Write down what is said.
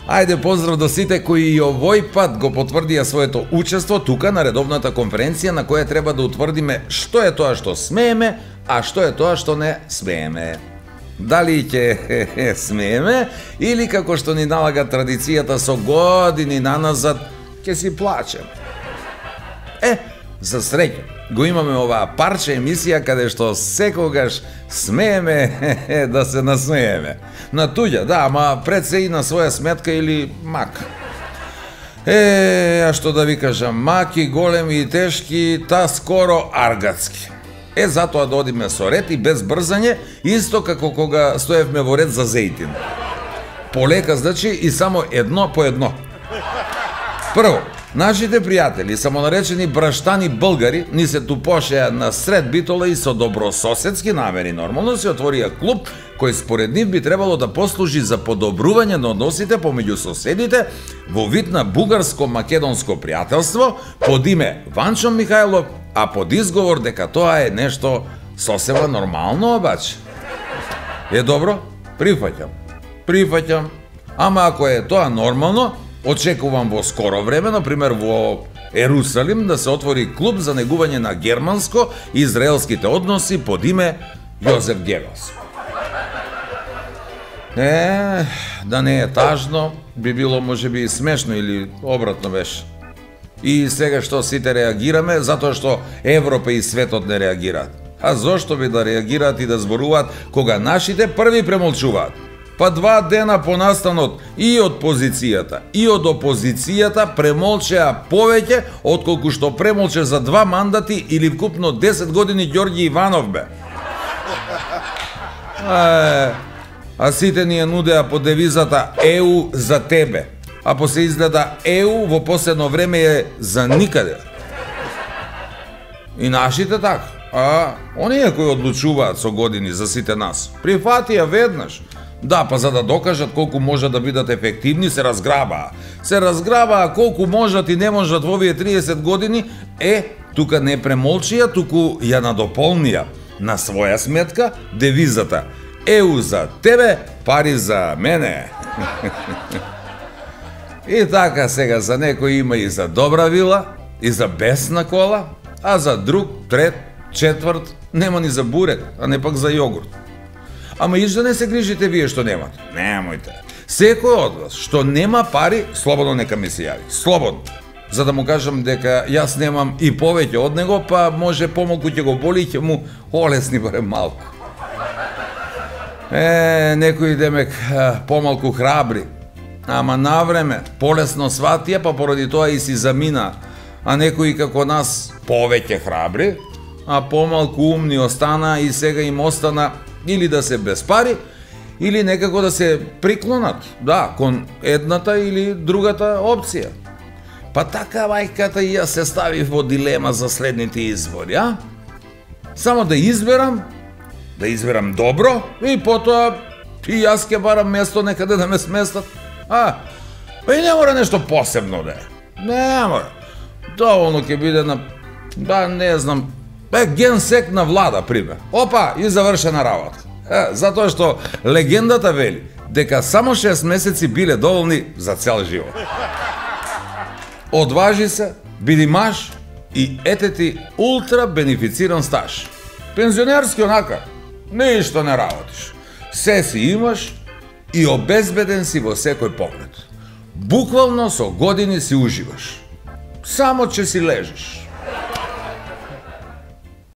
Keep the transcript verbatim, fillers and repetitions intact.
Ајде поздрав до сите кои и овој пат го потврдија своето учество тука на редовната конференција на која треба да утврдиме што е тоа што смееме, а што е тоа што не смееме. Дали ќе смееме или како што ни налага традицијата со години наназад ќе си плачеме. Е, за среќа, го имаме оваа парче емисија каде што секогаш смееме да се насмееме. На туѓа, да, ама пред се и на своја сметка или мак. Е, а што да ви кажам, маки, големи и тешки, та скоро аргатски. Е, затоа да одиме со ред и без брзање, исто како кога стоевме во ред за зејтин. Полека, значи, и само едно по едно. Прво, нашите пријатели, самонаречени браштани българи, ни се тупошеа на сред Битола и со добрососедски намери нормално се отворија клуб кој според нив би требало да послужи за подобрување на односите помеѓу соседите во вид на бугарско-македонско пријателство под име Ванчо Михајлов, а под изговор дека тоа е нешто сосема нормално, обаче. Е добро, прифаќам, прифаќам, ама ако е тоа нормално, очекувам во скоро време, например во Ерусалим, да се отвори клуб за негување на германско-израелските односи под име Јозеф Гебелс. Е, да не е тажно, би било можеби и смешно или обратно беше. И сега што сите реагираме, затоа што Европа и светот не реагираат. А зошто би да реагираат и да зборуваат кога нашите први премолчуваат? Па два дена по настанот и од позицијата, и од опозицијата премолчеа повеќе отколку што премолче за два мандати или вкупно десет години Ѓорѓи Иванов бе. А, а сите ни ја нудеа по девизата Е У за тебе, а после изгледа Е У во последно време е за никаде. И нашите така, а оние кои одлучуваат со години за сите нас, прифатија веднаш. Да, па за да докажат колку можат да бидат ефективни, се разграбаа. Се разграбаа колку можат и не можат во овие триесет години, е, тука не премолчија, туку ја надополнија на своја сметка девизата Е У за тебе, пари за мене. И така сега за некој има и за добра вила, и за бесна кола, а за друг, трет, четврт, нема ни за бурек, а не пак за јогурт. Ама и да не се грижите вие што немате. Немојте. Секој од вас што нема пари, слободно нека ми се јави. Слободно. За да му кажам дека јас немам и повеќе од него, па може помалку ќе го боли и ќе му олесни барем малку. Е, некои демек помалку храбри, ама навреме, полесно сватија, па поради тоа и си замина. А некои како нас повеќе храбри, а помалку умни остана и сега им остана или да се без пари, или некако да се приклонат, да, кон едната или другата опција. Па така мајката и јас се стави во дилема за следните избори, а? Само да изберам, да изберам добро, и потоа и јас ќе барам место некаде да ме сместат. А, па и не мора нешто посебно да е. Не мора. Доволно ќе биде на, да не знам, Бе, генсек на влада, пример. Опа, и завршена работа. Е, затоа што легендата вели дека само шест месеци биле доволни за цел живот. Одважи се, биди маж и ете ти ултра бенефициран стаж. Пензионерски онака, ништо не работиш. Се си имаш и обезбеден си во секој поглед. Буквално со години си уживаш. Само че си лежиш.